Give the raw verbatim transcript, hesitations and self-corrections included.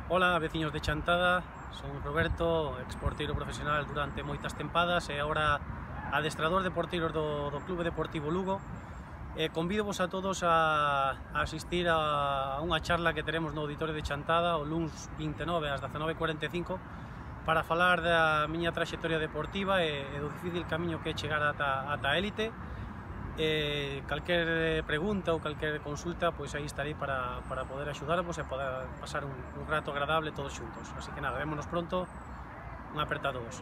Ola, veciños de Chantada, son Roberto, exporteiro profesional durante moitas tempadas e agora adestrador de porteiros do, do Clube Deportivo Lugo. E convídovos a todos a, a asistir a, a unha charla que teremos no Auditorio de Chantada o luns vinte e nove ás dezanove e cuarenta e cinco para falar da miña traxectoria deportiva e, e do difícil camiño que é chegar ata, ata a élite. E calquer pregunta ou calquer consulta, pois aí estarei para, para poder axudarvos e poder pasar un, un rato agradable todos xuntos. Así que nada, vémonos pronto, unha aperta a todos.